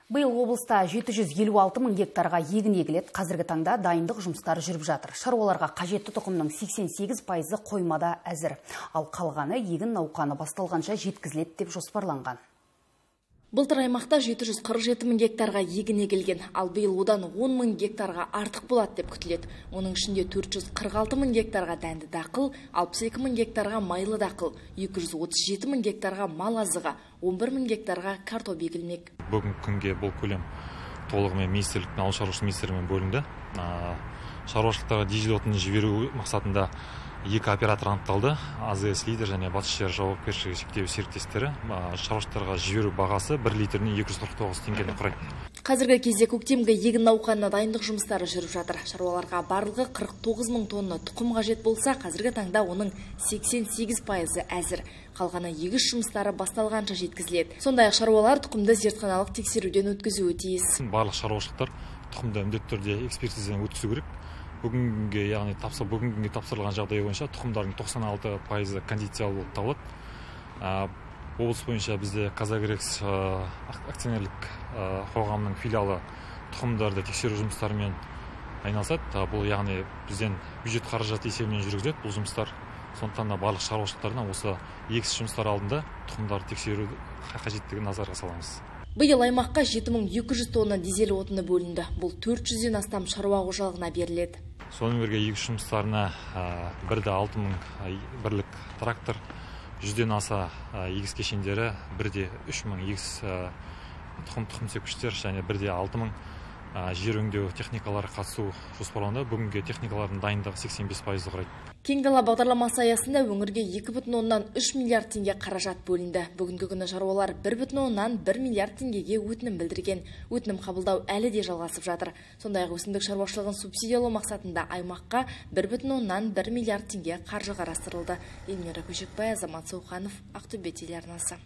Биыл облыста 756 мың гектарға егін егіледі. Қазіргі таңда дайындық жұмыстары жүріп жатыр. Шаруаларға қажетті тұқымның 88% қоймада әзір. Ал қалғаны егін науқаны басталғанша жеткізіледі деп жоспарланған. Былтыр аймақта 747 мың гектарға егін егілген, ал биыл одан 10 мың гектарға артық болады деп күтіледі. Оның ішінде 446 мың гектарға дәнді дақыл, 62 мың гектарға майлы дақыл, 237 мың гектарға мал азығы, 11 мың гектарға картоп егілмек. Бүгінгі күнге бұл көлем толығымен министрліктің, ауыл шаруашылық министрлігімен бөлінді. Шаруашылықтарға дизель отынын жіберу мақсатында екі оператор анықталды. АЗС Лидер және Батыс жер жауапкершілігі шектеулі серіктестері. Шаруашылықтарға жіберу бағасы 1 литріне 249 теңгені құрайды. Қазіргі кезде көктемгі егін науқанына дайындық жұмыстары жүріп жатыр. Шаруаларға барлығы 49 мың тонна тұқым қажет болса, қазіргі таңда оның 88% әзір. Қалғаны егіс жұмыстары басталғанша жеткізіледі. Сондай-ақ шаруалар тұқымды зертханалық тексеруден өткізуі тиіс. Барлық шаруашылықтар тұқымды міндетті түрде экспертизадан өткізу керек. Бүгінге тапсырылған жағдай бойынша тұқымдардың 96% кондициялы болып табылады. Облыс бойынша бізде Казагрекс акционерлік қоғамның филиалы тұқымдарды тексеру жұмыстарымен айналысады. Бұл яғни бізден бюджет қаражаты есебінен жүргізіледі бұл жұмыстар. Сондықтан барлық шаруашылықтарына осы егіс жұмыстары алдында тұқымдарды тексеру қажеттігін назарға саламыз. Биыл аймаққа 7200 тонна дизель отыны бөлінді. Бұл 400-ден астам шаруа қожалығына беріледі. Сонымен бірге егіс жұмыстарына 1,6 мың бірлік трактор, 100-ден аса егіс кешендері, 1,3 мың егіс тұқым сепкіштер және 1,6 мың жер өңдеу техникалары қатысу жоспарланды. Бүгінге техникалардың дайындығы 85% құрайды. Кең дала бағдарламасы аясында өңірге 2,3 миллиард теңге қаражат бөлінді. Бүгінгі күні шаруалар 1,1 миллиард теңгеге өтінім білдірген. Өтінім қабылдау әлі де жалғасып жатыр. Сондай-ақ өсімдік шаруашылығын субсидиялау мақсатында аймаққа 1,1 миллиард теңге қаржы қарастырылды. Эльмира Көшекбай, Азамат Сауханов, Ақтөбе телеарнасы.